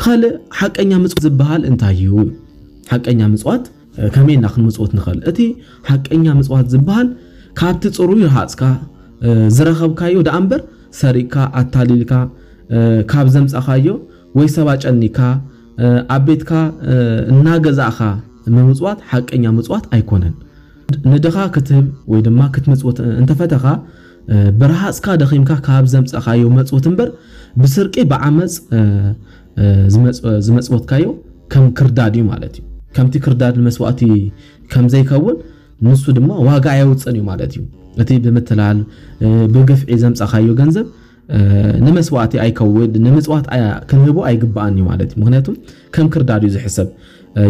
ካልእ ሓቀኛ ምጽዋት ዝበሃል እንታይ እዩ? ሓቀኛ ምጽዋት ከመይ እና ክንምጽወት ንኽእል? እቲ ሓቀኛ ምጽዋት ዝበሃል ካብቲ ጽሩይ ረሃጽካ ዝረኸብካዮ ደኣ እምበር፣ ሰሪቕካ ኣታሊልካ ካብ ዘምጻኻዮ ወይ ሰብ ኣጨኒካ ኣብ ቤትካ እናገዛእካ ምምጽዋት ሓቀኛ ምጽዋት ኣይኮነን። ንድኻ ክትህብ ወይ ድማ ክትምጽውት እንተፈተኻ፣ ብረሃጽካ ደኺምካ ካብ ዘምጻኻዮ መጽውት እምበር፣ ብስርቂ ብዓመጽ ዝመጽወትካዮ ከም ክርዳድ እዩ ማለት እዩ። ከምቲ ክርዳድ ንመስዋእቲ ከም ዘይከውን፣ ንሱ ድማ ዋጋ ኣየውጽእን እዩ ማለት እዩ። እቲ ብምትላል ብግፍዒ ዘምጻኻዮ ገንዘብ ንመስዋእቲ ኣይከውን፣ ንምጽዋት ክንህቦ ኣይግባኣን እዩ ማለት እዩ። ምክንያቱም ከም ክርዳድ እዩ ዝሕሰብ።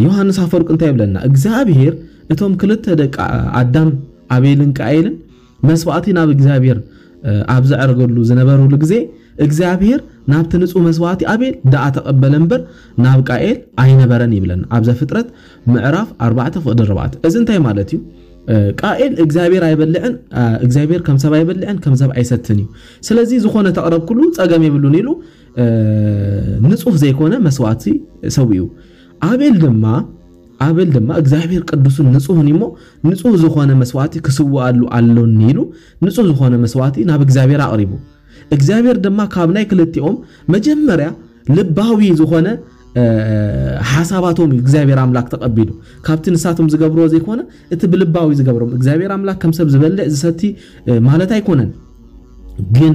ዮሃንስ ኣፈወርቅ እንታይ ይብለና? እግዚኣብሔር እቶም ክልተ ደቂ ኣዳም ኣቤልን ቃኤልን መስዋእቲ ናብ እግዚኣብሔር ኣብ ዘዕርገሉ ዝነበሩሉ ግዜ፣ እግዚኣብሔር ናብቲ ንጹህ መስዋእቲ ኣቤል ደኣ ተቐበለ እምበር፣ ናብ ቃኤል ኣይነበረን ይብለና ኣብ ዘፍጥረት ምዕራፍ ኣርባዕተ ፍቕዲ ኣርባዕተ። እዚ እንታይ ማለት እዩ? ቃኤል እግዚኣብሔር ኣይበልዕን እግዚኣብሔር ከም ሰብ ኣይበልዕን ከም ሰብ ኣይሰትን እዩ። ስለዚ ዝኾነ ተቕረብ ኩሉ ጸገም የብሉን ኢሉ ንጹህ ዘይኮነ መስዋእቲ ሰዊኡ። ኣቤል ድማ ኣቤል ድማ እግዚኣብሔር ቅዱስን ንጹህን እዩሞ፣ ንጹህ ዝኾነ መስዋእቲ ክስውኣሉ ኣሎኒ ኢሉ ንጹህ ዝኾነ መስዋእቲ ናብ እግዚኣብሔር ኣቕሪቡ። እግዚኣብሔር ድማ ካብ ናይ ክልቲኦም መጀመርያ ልባዊ ዝኾነ ሓሳባቶም እዩ እግዚኣብሔር ኣምላክ ተቐቢሉ። ካብቲ ንሳቶም ዝገብርዎ ዘይኮነ እቲ ብልባዊ ዝገብሮም። እግዚኣብሔር ኣምላክ ከም ሰብ ዝበልዕ ዝሰቲ ማለት ኣይኮነን። ግን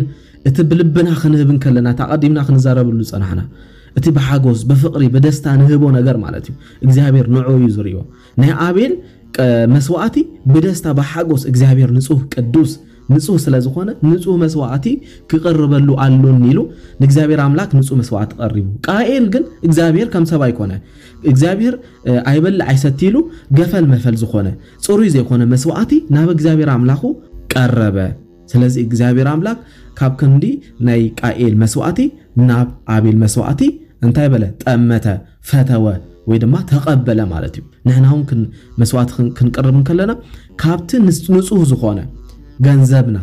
እቲ ብልብና ክንህብ እንከለና፣ እቲ ኣቐዲምና ክንዛረብሉ ዝጸናሕና፣ እቲ ብሓጎስ ብፍቕሪ ብደስታ ንህቦ ነገር ማለት እዩ። እግዚኣብሔር ንዑ እዩ ዝርእዮ። ናይ ኣቤል መስዋእቲ ብደስታ ብሓጎስ እግዚኣብሔር ንጹህ ቅዱስ ንጹህ ስለ ዝኾነ ንጹህ መስዋእቲ ክቐርበሉ ኣሎኒ ኢሉ ንእግዚኣብሔር ኣምላክ ንጹህ መስዋእቲ ቀሪቡ። ቃኤል ግን እግዚኣብሔር ከም ሰብ ኣይኮነ። እግዚኣብሔር ኣይበልዕ ኣይሰቲ ኢሉ ገፈል መፈል ዝኾነ ጽሩይ ዘይኮነ መስዋእቲ ናብ እግዚኣብሔር ኣምላኹ ቀረበ። ስለዚ እግዚኣብሔር ኣምላክ ካብ ክንዲ ናይ ቃኤል መስዋእቲ ናብ ኣቤል መስዋእቲ እንታይ በለ? ጠመተ፣ ፈተወ ወይ ድማ ተቐበለ ማለት እዩ። ንሕና እውን ክን መስዋእቲ ክን ክንቅርብ እንከለና ካብቲ ንስ ንጹህ ዝኾነ ገንዘብና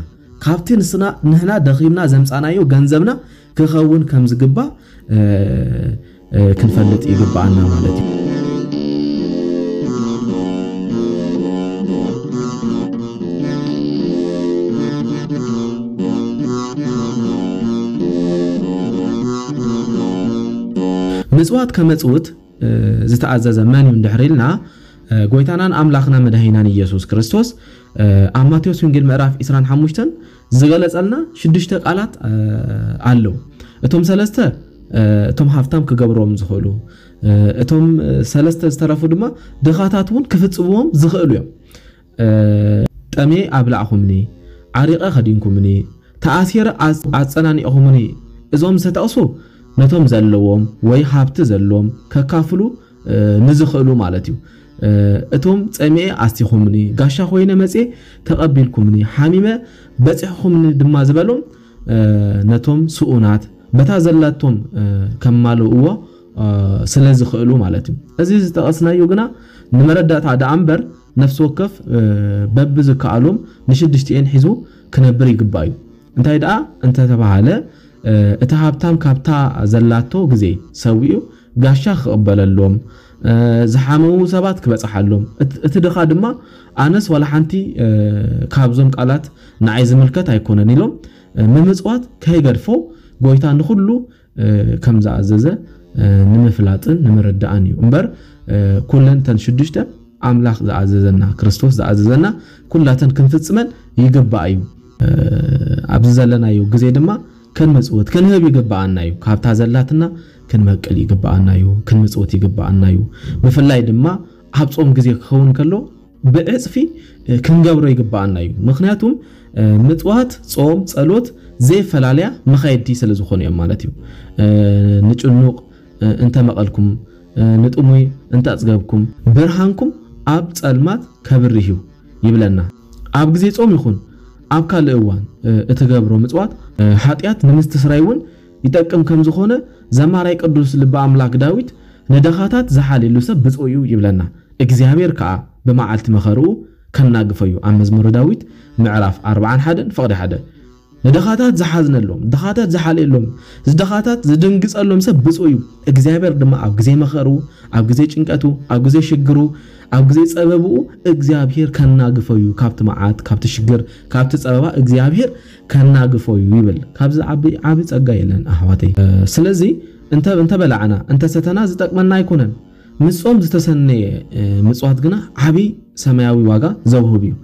ካብቲ ንስና ንሕና ደኺምና ዘምጻናዮ ገንዘብና ክኸውን ከም ዝግባእ ክንፈልጥ ይግብኣና ማለት እዩ። ምጽዋት ከመጽውት ዝተኣዘዘ መን እዩ እንድሕር ኢልና፣ ጎይታናን ኣምላኽና መድሃኒናን ኢየሱስ ክርስቶስ ኣብ ማቴዎስ ወንጌል ምዕራፍ ዕስራን ሓሙሽተን ዝገለጸልና ሽዱሽተ ቃላት ኣለዉ። እቶም ሰለስተ እቶም ሃፍታም ክገብርዎም ዝኽእሉ፣ እቶም ሰለስተ ዝተረፉ ድማ ድኻታት እውን ክፍጽምዎም ዝኽእሉ እዮም። ጠምየ ኣብላዕኹምኒ፣ ዓሪቐ ከዲንኩምኒ፣ ተኣሲረ ኣጸናኒዕኹምኒ። እዞም ዝተጠቕሱ ነቶም ዘለዎም ወይ ሃብቲ ዘለዎም ከካፍሉ ንዝኽእሉ ማለት እዩ። እቶም ጸሚኤ ኣስቲኹምኒ፣ ጋሻ ኮይነ መጽየ ተቐቢልኩምኒ፣ ሓሚመ በጺሕኹምኒ ድማ ዝበሎም ነቶም ስኡናት በታ ዘላቶም ከማልእዎ ስለ ዝኽእሉ ማለት እዩ። እዚ ዝጠቐስናዮ ግና ንመረዳእታ ደኣ እምበር ነፍሲ ወከፍ በብዝከኣሎም ንሽዱሽቲኤን ሒዙ ክነብር ይግባእ እዩ። እንታይ ደኣ እንተተባሃለ እቲ ሃብታም ካብታ ዘላቶ ግዜ ሰዊኡ ጋሻ ክቕበለሎም፣ ዝሓመሙ ሰባት ክበጽሓሎም፣ እቲ ድኻ ድማ ኣነስ ዋላ ሓንቲ ካብዞም ቃላት ንዓይ ዝምልከት ኣይኮነን ኢሎም ምምጽዋት ከይገድፎ ጎይታ ንኹሉ ከም ዝኣዘዘ ንምፍላጥን ንምርዳእን እዩ። እምበር ኩለን ተን ሽዱሽተ ኣምላኽ ዝኣዘዘና፣ ክርስቶስ ዝኣዘዘና ኩላተን ክንፍጽመን ይግባእ እዩ። ኣብዚ ዘለናዮ ግዜ ድማ ክንምጽውት ክንህብ ይግባኣና እዩ። ካብታ ዘላትና ክንመቅል ይግባኣና እዩ። ክንምጽውት ይግባኣና እዩ። ብፍላይ ድማ ኣብ ጾም ግዜ ክኸውን ከሎ ብዕጽፊ ክንገብሮ ይግባኣና እዩ። ምኽንያቱም ምጽዋት፣ ጾም፣ ጸሎት ዘይፈላለያ መኻየድቲ ስለ ዝኾኑ እዮም ማለት እዩ። ንጭኑቕ እንተመቐልኩም፣ ንጥሙይ እንተኣጽገብኩም፣ ብርሃንኩም ኣብ ጸልማት ከብርህ እዩ ይብለና። ኣብ ግዜ ጾም ይኹን ኣብ ካልእ እዋን እትገብሮ ምጽዋት፣ ሓጢኣት ንምስትስራይ እውን ይጠቅም ከም ዝኾነ ዘማራይ ቅዱስ ልበ ኣምላክ ዳዊት፣ ንደኻታት ዝሓልየሉ ሰብ ብፁዕ እዩ ይብለና። እግዚኣብሔር ከኣ ብመዓልቲ መኸርኡ ከናግፎ እዩ። ኣብ መዝሙረ ዳዊት ምዕራፍ ኣርብዓን ሓደን ፍቕዲ ሓደ። ንደኻታት ዝሓዝነሎም፣ ድኻታት ዝሓልየሎም፣ ዝደኻታት ዝድንግጸሎም ሰብ ብፁዕ እዩ። እግዚኣብሔር ድማ ኣብ ግዜ መኸርኡ፣ ኣብ ግዜ ጭንቀቱ፣ ኣብ ግዜ ሽግሩ፣ ኣብ ግዜ ጸበብኡ እግዚኣብሔር ከናግፎ እዩ። ካብቲ መዓት፣ ካብቲ ሽግር፣ ካብቲ ጸበባ እግዚኣብሔር ከናግፎ እዩ ይብል። ካብዚ ዓቢ፣ ዓቢ ጸጋ የለን ኣሕዋተይ። ስለዚ እንተ፣ እንተ በላዕና፣ እንተ ሰተና ዝጠቅመና ኣይኮነን። ምጾም ዝተሰነየ ምጽዋት ግና ዓቢ ሰማያዊ ዋጋ ዘውህብ እዩ።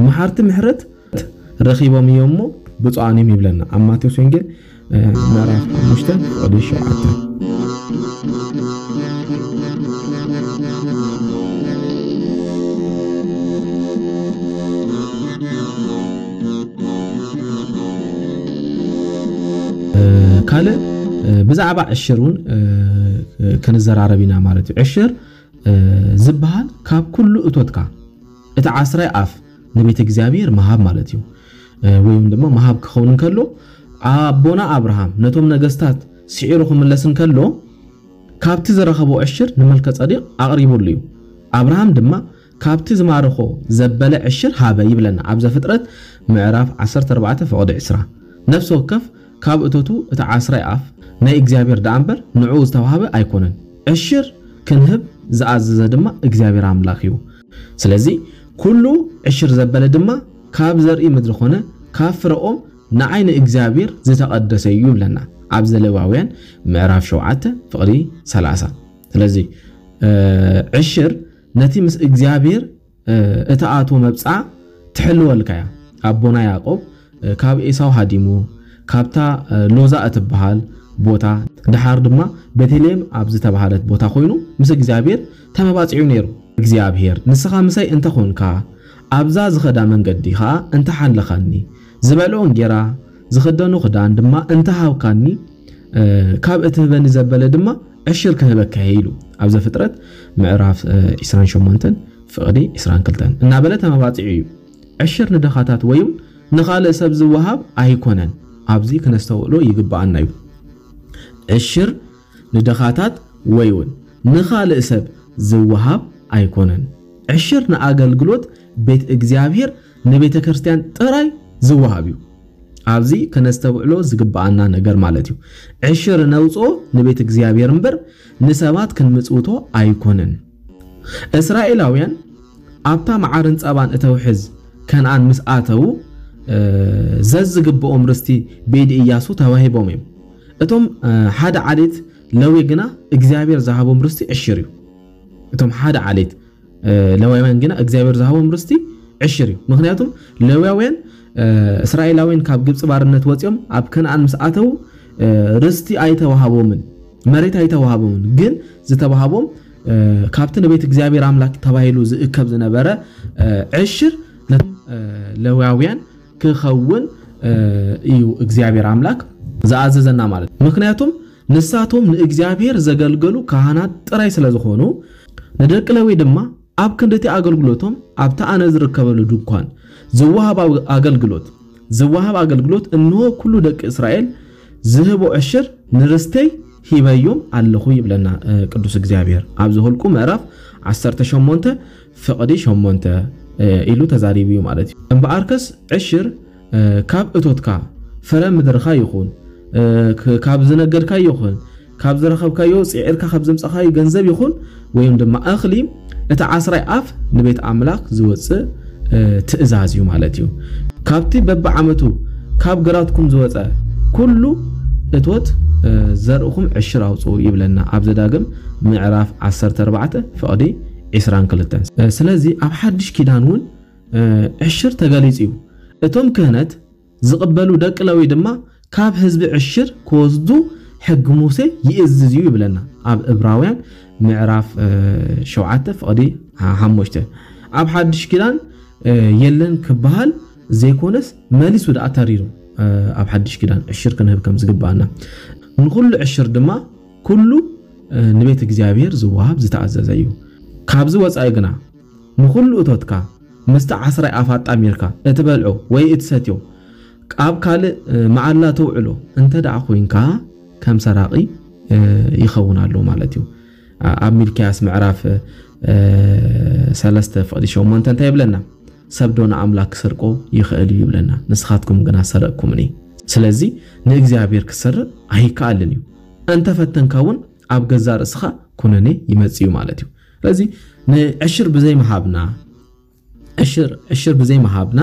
መሓርቲ ምሕረት ረኺቦም እዮም እሞ ብፁዓን እዮም ይብለና ኣብ ማቴዎስ ወንጌል ምዕራፍ ሓሙሽተ ፍቕዲ ሸውዓተ። ካልእ ብዛዕባ ዕሽር እውን ክንዘራረብ ኢና ማለት እዩ። ዕሽር ዝበሃል ካብ ኩሉ እቶትካ እቲ ዓስራይ ኣፍ ንቤተ እግዚኣብሔር ምሃብ ማለት እዩ። ወይም ድማ ምሃብ ክኸውን እንከሎ ኣቦና ኣብርሃም ነቶም ነገስታት ስዒሩ ክምለስ እንከሎ ካብቲ ዝረኸቦ ዕሽር ንመልከ ጸዲቕ ኣቕሪቡሉ እዩ። ኣብርሃም ድማ ካብቲ ዝማረኾ ዘበለ ዕሽር ሃበ ይብለና ኣብ ዘፍጥረት ምዕራፍ ዓሰርተ ኣርባዕተ ፍቕዲ ዕስራ። ነፍሲ ወከፍ ካብ እቶቱ እቲ ዓስራይ ኣፍ ናይ እግዚኣብሔር ደኣ እምበር ንዕኡ ዝተዋህበ ኣይኮነን። ዕሽር ክንህብ ዝኣዘዘ ድማ እግዚኣብሔር ኣምላኽ እዩ። ስለዚ ኩሉ ዕሽር ዘበለ ድማ ካብ ዘርኢ ምድሪ ኮነ ካብ ፍረኦም ንዓይ ንእግዚኣብሔር ዝተቐደሰ እዩ ይብለና ኣብ ዘሌዋውያን ምዕራፍ ሸውዓተ ፍቕዲ ሰላሳ። ስለዚ ዕሽር ነቲ ምስ እግዚኣብሔር እትኣትዎ መብጽዓ ትሕልወልካ እያ። ኣቦና ያዕቆብ ካብ ኤሳው ሃዲሙ ካብታ ሎዛ እትበሃል ቦታ ድሓር ድማ ቤተልሔም ኣብ ዝተባሃለት ቦታ ኮይኑ ምስ እግዚኣብሔር ተመባጺዑ ነይሩ። እግዚኣብሔር ንስኻ ምሳይ እንተኾንካ ኣብዛ ዝኸዳ መንገዲ ኸኣ እንተሓለኻኒ ዝበልዖ እንጌራ ዝኽደኖ ክዳን ድማ እንተሃብካኒ ካብ እትህበኒ ዘበለ ድማ ዕሽር ክህበካ እየ ኢሉ ኣብ ዘፍጥረት ምዕራፍ ዒስራን ሸሞንተን ፍቕዲ ዒስራን ክልተን እናበለ ተመባጺዑ እዩ። ዕሽር ንደኻታት ወይም ንኻልእ ሰብ ዝወሃብ ኣይኮነን። ኣብዚ ክነስተውዕሎ ይግብኣና እዩ። ዕሽር ንደኻታት ወይ እውን ንኻልእ ሰብ ዝወሃብ ኣይኮነን። ዕሽር ንኣገልግሎት ቤት እግዚኣብሔር ንቤተ ክርስቲያን ጥራይ ዝወሃብ እዩ። ኣብዚ ከነስተውዕሎ ዝግብኣና ነገር ማለት እዩ። ዕሽር ነውፅኦ ንቤት እግዚኣብሔር እምበር ንሰባት ክንምፅውቶ ኣይኮነን። እስራኤላውያን ኣብታ መዓርን ጸባን እተውሕዝ ከነኣን ምስ ኣተዉ ዘዝግብኦም ርስቲ ብኢድ ኢያሱ ተዋሂቦም እዮም። እቶም ሓደ ዓሌት ለዊ ግና እግዚኣብሔር ዝሃቦም ርስቲ ዕሽር እዩ። እቶም ሓደ ዓሌት ለዋውያን ግና እግዚኣብሔር ዝሃቦም ርስቲ ዕሽር እዩ። ምክንያቱም ለዋውያን እስራኤላውያን ካብ ግብፂ ባርነት ወፂኦም ኣብ ከነኣን ምስ ኣተዉ ርስቲ ኣይተዋሃቦምን፣ መሬት ኣይተዋሃቦምን። ግን ዝተዋሃቦም ካብቲ ንቤት እግዚኣብሔር ኣምላክ ተባሂሉ ዝእከብ ዝነበረ ዕሽር ነቶም ለዋውያን ክኸውን እዩ እግዚኣብሔር ኣምላክ ዝኣዘዘና ማለት። ምክንያቱም ንሳቶም ንእግዚኣብሔር ዘገልገሉ ካህናት ጥራይ ስለ ዝኾኑ፣ ንደቂ ለዊ ድማ ኣብ ክንድቲ ኣገልግሎቶም ኣብቲ ኣነ ዝርከበሉ ድንኳን ዝወሃብ ኣገልግሎት ዝወሃብ ኣገልግሎት እንሆ ኩሉ ደቂ እስራኤል ዝህቦ ዕሽር ንርስተይ ሂበዮም ኣለኹ ይብለና ቅዱስ እግዚኣብሔር ኣብ ዘኍልቁ ምዕራፍ ዓሰርተ ሸሞንተ ፍቕዲ ሸሞንተ ኢሉ ተዛሪቡ እዩ ማለት እዩ። እምበኣርከስ ዕሽር ካብ እቶትካ ፍረ ምድርኻ ይኹን ካብ ዝነገድካዮ ይኹን ካብ ዝረኸብካዮ ጽዒርካ ካብ ዘምጻኻዮ ገንዘብ ይኹን ወይም ድማ እኽሊ እቲ ዓስራይ ኣፍ ንቤት ኣምላኽ ዝወጽእ ትእዛዝ እዩ ማለት እዩ። ካብቲ በብዓመቱ ካብ ግራትኩም ዝወጸ ኩሉ እቶት ዘርእኹም ዕሽር ኣውጽኡ ይብለና ኣብ ዘዳግም ምዕራፍ ዓሰርተ ኣርባዕተ ፍቕዲ ዒስራን ክልተን። ስለዚ ኣብ ሓድሽ ኪዳን እውን ዕሽር ተገሊጹ እዩ። እቶም ክህነት ዝቕበሉ ደቂ ለዊ ድማ ካብ ህዝቢ ዕሽር ክወስዱ ሕጊ ሙሴ ይእዝዝ እዩ ይብለና ኣብ እብራውያን ምዕራፍ ሸውዓተ ፍቕዲ ሓሙሽተ። ኣብ ሓድሽ ኪዳን የለን ክበሃል ዘይኮነስ መሊሱ ደኣ ተሪሩ ኣብ ሓድሽ ኪዳን ዕሽር ክንህብ ከም ዝግብኣና ንኹሉ ዕሽር ድማ ኩሉ ንቤት እግዚኣብሔር ዝወሃብ ዝተኣዘዘ እዩ። ካብዚ ወጻኢ ግና ንኹሉ እቶትካ ምስቲ ዓስራይ ኣፍ ኣጣሚርካ እትበልዖ ወይ እትሰትዮ ኣብ ካልእ መዓላ ተውዕሎ እንተ ደኣ ኮይንካ ከም ሰራቒ ይኸውን ኣሎ ማለት እዩ። ኣብ ሚልክያስ ምዕራፍ ሰለስተ ፍቕዲ ሸሞንተ እንታይ ይብለና? ሰብ ዶ ንኣምላክ ክሰርቆ ይኽእል እዩ ይብለና። ንስኻትኩም ግና ሰረቅኩምኒ። ስለዚ ንእግዚኣብሔር ክትሰርቕ ኣይከኣልን እዩ። እንተፈተንካ እውን ኣብ ገዛ ርእስኻ ኩነኔ ይመጽእ እዩ ማለት እዩ። ስለዚ ንዕሽር ብዘይ ምሃብና፣ ዕሽር ዕሽር ብዘይ ምሃብና፣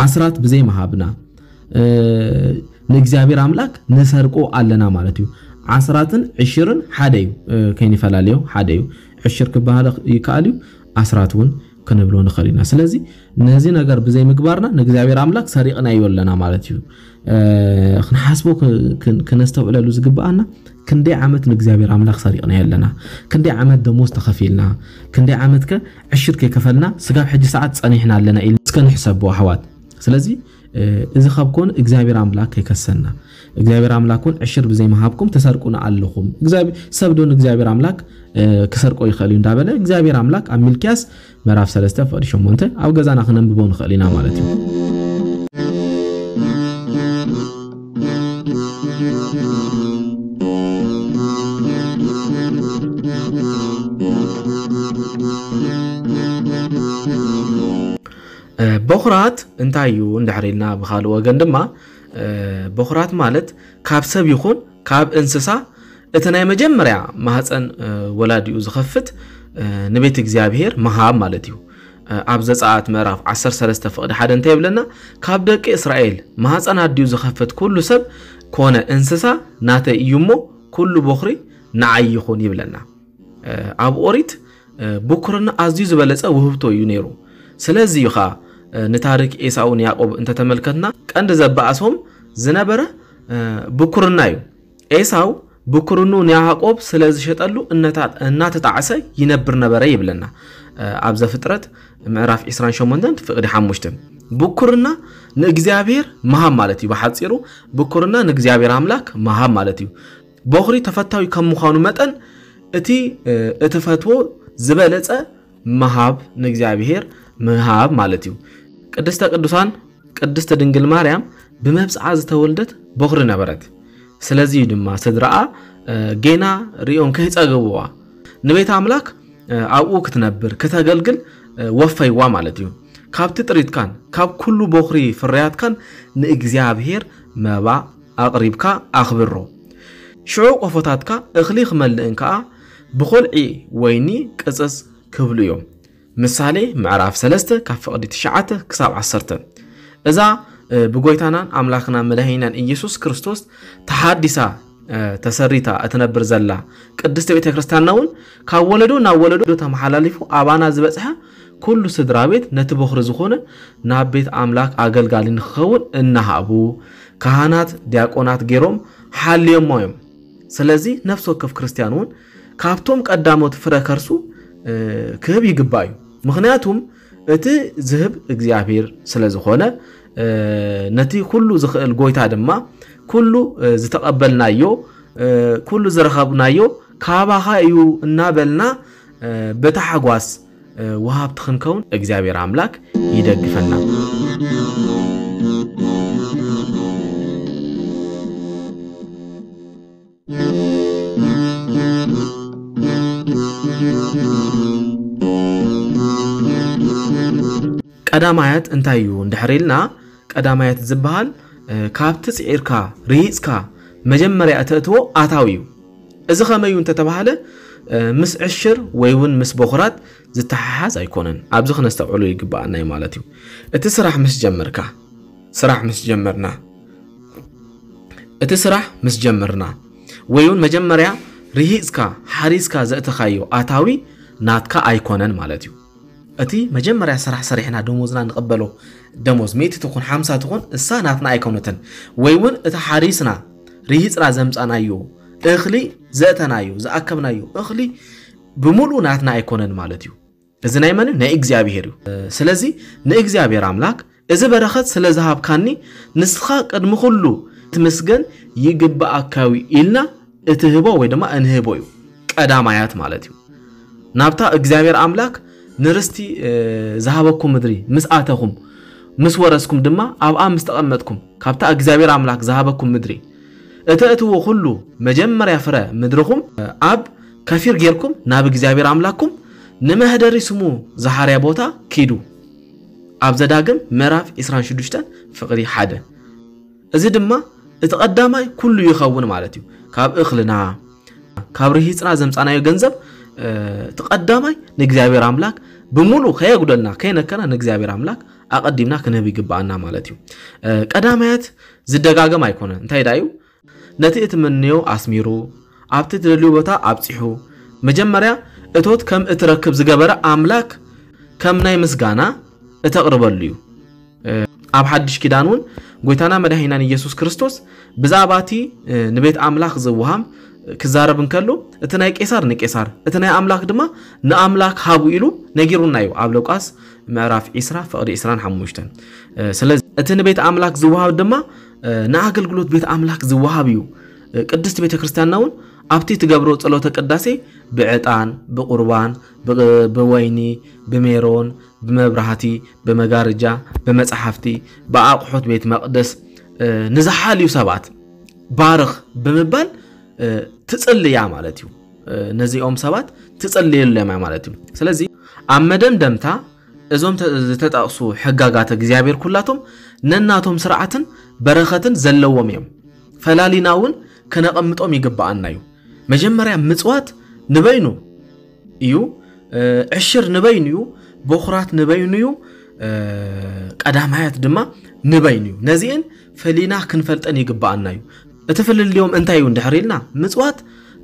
ዓስራት ብዘይ ምሃብና ንእግዚኣብሔር ኣምላክ ንሰርቆ ኣለና ማለት እዩ። ዓስራትን ዕሽርን ሓደ እዩ፣ ከይንፈላለዮ ሓደ እዩ። ዕሽር ክበሃል ይከኣል እዩ፣ ኣስራት እውን ክንብሎ ንኽእል ኢና። ስለዚ ነዚ ነገር ብዘይ ምግባርና ንእግዚኣብሔር ኣምላክ ሰሪቕናዮ ኣለና ማለት እዩ። ክንሓስቦ ክነስተውዕለሉ ዝግብኣና፣ ክንደይ ዓመት ንእግዚኣብሔር ኣምላክ ሰሪቕናዮ ኣለና? ክንደይ ዓመት ደሞዝ ተኸፊልና? ክንደይ ዓመት ከ ዕሽር ከይከፈልና ስጋብ ሕጂ ሰዓት ጸኒሕና ኣለና ኢልና እስከ ንሕሰቦ ኣሕዋት። ስለዚ እዚ ካብ ኮነ እግዚኣብሔር ኣምላክ ከይከሰና፣ እግዚኣብሔር ኣምላክ እውን ዕሽር ብዘይምሃብኩም ትሰርቁና ኣለኹም፣ ሰብ ዶ ንእግዚኣብሔር ኣምላክ ክሰርቆ ይኽእል እዩ እንዳበለ እግዚኣብሔር ኣምላክ ኣብ ሚልክያስ ምዕራፍ ሰለስተ ፍቕዲ ሸሞንተ ኣብ ገዛና ክነንብቦ ንኽእል ኢና ማለት እዩ። በኹራት እንታይ እዩ እንድሕር ኢልና፣ ብኻልእ ወገን ድማ በኹራት ማለት ካብ ሰብ ይኹን ካብ እንስሳ እቲ ናይ መጀመርያ ማህፀን ወላዲኡ ዝኸፍት ንቤት እግዚኣብሔር ምሃብ ማለት እዩ። ኣብ ዘፀኣት ምዕራፍ ዓሰርተ ሰለስተ ፍቕዲ ሓደ እንታይ ይብለና? ካብ ደቂ እስራኤል ማህፀን ኣዲኡ ዝኸፍት ኩሉ ሰብ ኮነ እንስሳ ናተይ እዩ እሞ ኩሉ ቦኽሪ ንዓይ ይኹን ይብለና። ኣብ ኦሪት ብኩርና ኣዝዩ ዝበለጸ ውህብቶ እዩ ነይሩ። ስለዚ እዩ ኸኣ ንታሪክ ኤሳውን ያዕቆብ እንተተመልከትና ቀንዲ ዘባእሶም ዝነበረ ብኩርና እዩ። ኤሳው ብኩርኑ ንያዕቆብ ስለ ዝሸጠሉ እናተጣዕሰ ይነብር ነበረ ይብለና። ኣብ ዘፍጥረት ምዕራፍ ዕስራን ሸሞንተን ፍቕዲ ሓሙሽተ። ብኩርና ንእግዚኣብሔር ምሃብ ማለት እዩ። ብሓጺሩ ብኩርና ንእግዚኣብሔር ኣምላክ ምሃብ ማለት እዩ። ቦኽሪ ተፈታዊ ከም ምዃኑ መጠን እቲ እትፈትዎ ዝበለጸ ምሃብ ንእግዚኣብሔር ምሃብ ማለት እዩ። ቅድስተ ቅዱሳን ቅድስት ድንግል ማርያም ብመብጽዓ ዝተወልደት ቦኽሪ ነበረት። ስለዚ እዩ ድማ ስድራኣ ጌና ሪኦም ከይጸገብዋ ንቤት ኣምላክ ኣብኡ ክትነብር ክተገልግል ወፈይዋ ማለት እዩ። ካብቲ ጥሪትካን ካብ ኩሉ ቦኽሪ ፍርያትካን ንእግዚኣብሔር መባ ኣቕሪብካ ኣኽብሮ። ሽዑ ቆፎታትካ እኽሊ ክመልእን ከኣ ብኾልዒ ወይኒ ቅጽጽ ክብሉ እዮም። ምሳሌ ምዕራፍ ሰለስተ ካብ ፍቕዲ ትሽዓተ ክሳብ ዓሰርተ። እዛ ብጎይታናን ኣምላኽና መድሃኒናን ኢየሱስ ክርስቶስ ተሓዲሳ ተሰሪታ እትነብር ዘላ ቅድስቲ ቤተ ክርስቲያንና እውን ካብ ወለዶ ናብ ወለዶ ተመሓላሊፉ ኣባና ዝበጽሐ ኩሉ ስድራ ቤት ነቲ ቦኽሪ ዝኾነ ናብ ቤት ኣምላክ ኣገልጋሊ ንክኸውን እናሃቡ ካህናት ዲያቆናት ገይሮም ሓልዮሞ እዮም። ስለዚ ነፍሲ ወከፍ ክርስቲያን እውን ካብቶም ቀዳሞት ፍረ ከርሱ ክህብ ይግባእ እዩ። ምክንያቱም እቲ ዝህብ እግዚኣብሔር ስለ ዝኾነ ነቲ ኩሉ ዝኽእል ጎይታ ድማ ኩሉ ዝተቐበልናዮ ኩሉ ዝረኸብናዮ ካባኻ እዩ እናበልና ብታሕጓስ ወሃብቲ ክንከውን እግዚኣብሔር ኣምላክ ይደግፈና። ቀዳማያት እንታይ እዩ እንድሕር ኢልና፣ ቀዳማያት ዝበሃል ካብቲ ጽዒርካ ርሂጽካ መጀመርያ እተእትዎ ኣታዊ እዩ። እዚ ከመይ እዩ እንተተባህለ፣ ምስ ዕሽር ወይ እውን ምስ በኹራት ዝተሓሓዝ ኣይኮነን። ኣብዚ ክነስተውዕሎ ይግብኣና እዩ ማለት እዩ። እቲ ስራሕ ምስ ጀመርካ፣ ስራሕ ምስ ጀመርና፣ እቲ ስራሕ ምስ ጀመርና ወይ እውን መጀመርያ ርሂጽካ ሓሪስካ ዘእተኻዮ ኣታዊ ናትካ ኣይኮነን ማለት እዩ። እቲ መጀመርያ ስራሕ ሰሪሕና ደሞዝና ንቐበሎ ደሞዝ ሚእቲ ትኹን ሓምሳ ትኹን እሳ ናትና ኣይኮነትን። ወይ እውን እቲ ሓሪስና ርሂጽና ዘምጻናዮ እኽሊ ዘእተናዮ ዝኣከብናዮ እኽሊ ብምሉእ ናትና ኣይኮነን ማለት እዩ። እዚ ናይ መን እዩ? ናይ እግዚኣብሔር እዩ። ስለዚ ንእግዚኣብሔር ኣምላክ እዚ በረኸት ስለ ዝሃብካኒ ንስኻ ቅድሚ ኩሉ ክትምስገን ይግብኣካ እዩ ኢልና እትህቦ ወይ ድማ እንህቦ እዩ። ቀዳማያት ማለት እዩ። ናብታ እግዚኣብሔር ኣምላክ ንርስቲ ዝሃበኩም ምድሪ ምስ ኣተኹም ምስ ወረስኩም ድማ ኣብኣ ምስ ተቐመጥኩም ካብታ እግዚኣብሔር ኣምላክ ዝሃበኩም ምድሪ እተእትዎ ኩሉ መጀመርያ ፍረ ምድርኹም ኣብ ከፊር ጌርኩም ናብ እግዚኣብሔር ኣምላክኩም ንመህደሪ ስሙ ዝሓርያ ቦታ ኪዱ። ኣብ ዘዳግም ምዕራፍ ዕስራን ሽዱሽተን ፍቕሪ ሓደ። እዚ ድማ እቲ ቀዳማይ ኩሉ ይኸውን ማለት እዩ። ካብ እኽልና ካብ ርሂፅና ዘምፃናዮ ገንዘብ እቲ ቀዳማይ ንእግዚኣብሔር ኣምላክ ብምሉእ ከየጉደልና ከይነከና ንእግዚኣብሔር ኣምላክ ኣቐዲምና ክንህብ ይግባኣና ማለት እዩ። ቀዳማያት ዝደጋገም ኣይኮነን። እንታይ ዳ እዩ? ነቲ እትምንዮ ኣስሚሩ ኣብቲ ትደልዩ ቦታ ኣብፂሑ መጀመርያ እቶት ከም እትረክብ ዝገበረ ኣምላክ ከም ናይ ምስጋና እተቕርበሉ እዩ። ኣብ ሓድሽ ኪዳን እውን ጎይታና መድሓኒናን ኢየሱስ ክርስቶስ ብዛዕባ እቲ ንቤት ኣምላኽ ዝወሃብ ክዛረብ እንከሎ እቲ ናይ ቄሳር ንቄሳር እቲ ናይ ኣምላኽ ድማ ንኣምላኽ ሃቡ ኢሉ ነጊሩና እዩ ኣብ ሉቃስ ምዕራፍ ዕስራ ፍቕዲ ዕስራን ሓሙሽተን። ስለዚ እቲ ንቤት ኣምላኽ ዝወሃብ ድማ ንኣገልግሎት ቤት ኣምላኽ ዝወሃብ እዩ። ቅድስቲ ቤተ ክርስቲያንና እውን ኣብቲ ትገብሮ ጸሎተ ቅዳሴ ብዕጣን ብቁርባን ብወይኒ ብሜሮን ብመብራህቲ ብመጋርጃ ብመጽሓፍቲ ብኣቑሑት ቤት መቕደስ ንዝሓልዩ ሰባት ባርኽ ብምባል ትጽልያ ማለት እዩ። ነዚኦም ሰባት ትጽልየሎም እያ ማለት እዩ። ስለዚ ኣብ መደምደምታ እዞም ዝተጠቕሱ ሕጋጋት እግዚኣብሔር ኩላቶም ነናቶም ስርዓትን በረኸትን ዘለዎም እዮም። ፈላሊና እውን ከነቐምጦም ይግብኣና እዩ። መጀመርያ ምጽዋት ንበይኑ እዩ። ዕሽር ንበይኑ እዩ። በኹራት ንበይኑ እዩ። ቀዳማያት ድማ ንበይኑ እዩ። ነዚእን ፈሊና ክንፈልጠን ይግብኣና እዩ። እቲ ፍልልዮም እንታይ እዩ እንድሕር ኢልና ምጽዋት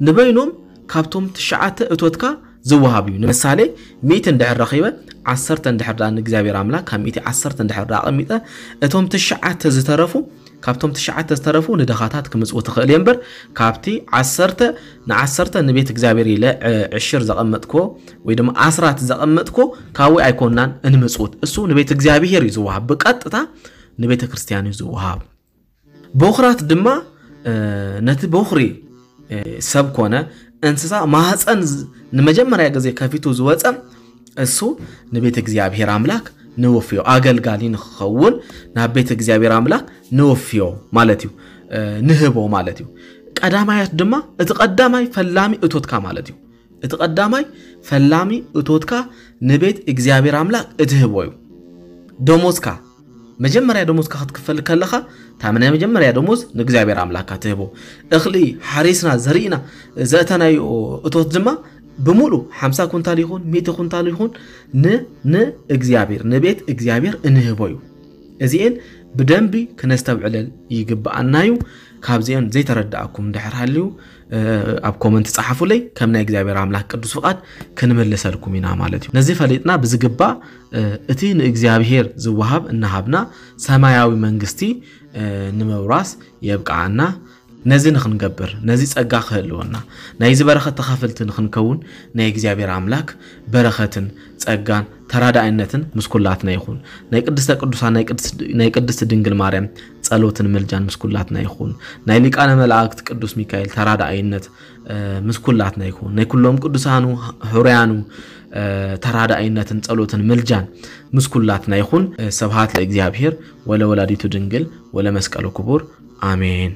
ንበይኖም ካብቶም ትሽዓተ እቶትካ ዝወሃብ እዩ። ንምሳሌ ሚእቲ እንድሕር ረኺበ ዓሰርተ እንድሕር ደኣ ንእግዚኣብሔር ኣምላክ ካብ ሚእቲ ዓሰርተ እንድሕር ደኣ ኣቐሚጠ እቶም ትሽዓተ ዝተረፉ ካብቶም ትሽዓተ ዝተረፉ ንደኻታት ክምጽኡ ትኽእል እየ እምበር ካብቲ ዓሰርተ ንዓሰርተ ንቤት እግዚኣብሔር ኢለ ዕሽር ዘቐመጥኮ ወይ ድማ ኣስራት ዘቐመጥኮ ካብኡ ኣይኮናን እንምጽውት። እሱ ንቤት እግዚኣብሔር እዩ ዝወሃብ፣ ብቀጥታ ንቤተ ክርስቲያን እዩ ዝወሃብ። በኹራት ድማ ነቲ በኹሪ ሰብ ኮነ እንስሳ ማህፀን ንመጀመርያ ግዜ ከፊቱ ዝወፀ እሱ ንቤት እግዚኣብሔር ኣምላክ ንወፍዮ ኣገልጋሊ ንክኸውን ናብ ቤት እግዚኣብሔር ኣምላክ ንወፍዮ ማለት እዩ። ንህቦ ማለት እዩ። ቀዳማያት ድማ እቲ ቀዳማይ ፈላሚ እቶትካ ማለት እዩ። እቲ ቀዳማይ ፈላሚ እቶትካ ንቤት እግዚኣብሔር ኣምላክ እትህቦ እዩ። ደሞዝካ መጀመርያ ደሞዝካ ክትክፈል ከለኻ እታ ናይ መጀመርያ ደሞዝ ንእግዚኣብሔር ኣምላክካ ትህቦ። እኽሊ ሓሪስና ዘርኢና ዘእተናዮ እቶት ድማ ብምሉ ሓምሳ ኩንታል ይኹን ሚእቲ ኩንታል ይኹን ንእግዚኣብሔር ንቤት እግዚኣብሔር እንህቦ እዩ። እዚኤን ብደንቢ ክነስተብዕለል ይግብኣና እዩ። ካብዚኤን ዘይተረዳእኩም እንድሕር ሃልዩ ኣብ ኮመንት ጸሓፉለይ። ከም ናይ እግዚኣብሔር ኣምላክ ቅዱስ ፍቓድ ክንምልሰልኩም ኢና ማለት እዩ። ነዚ ፈሊጥና ብዝግባእ እቲ ንእግዚኣብሔር ዝወሃብ እናሃብና ሰማያዊ መንግስቲ ንምውራስ የብቅዓና። ነዚ ንኽንገብር ነዚ ጸጋ ክህልወና ናይዚ በረኸት ተኻፈልቲ ንኽንከውን ናይ እግዚኣብሔር ኣምላክ በረኸትን ጸጋን ተራዳኣይነትን ምስ ኩላትና ይኹን። ናይ ቅድስተ ቅዱሳን ናይ ቅድስቲ ድንግል ማርያም ጸሎትን ምልጃን ምስ ኩላትና ይኹን። ናይ ሊቃነ መላእክት ቅዱስ ሚካኤል ተራዳኣይነት ምስ ኩላትና ይኹን። ናይ ኩሎም ቅዱሳኑ ሕሩያኑ ተራዳኣይነትን ጸሎትን ምልጃን ምስ ኩላትና ይኹን። ስብሃት ለእግዚኣብሔር ወለወላዲቱ ድንግል ወለመስቀሉ ክቡር ኣሜን።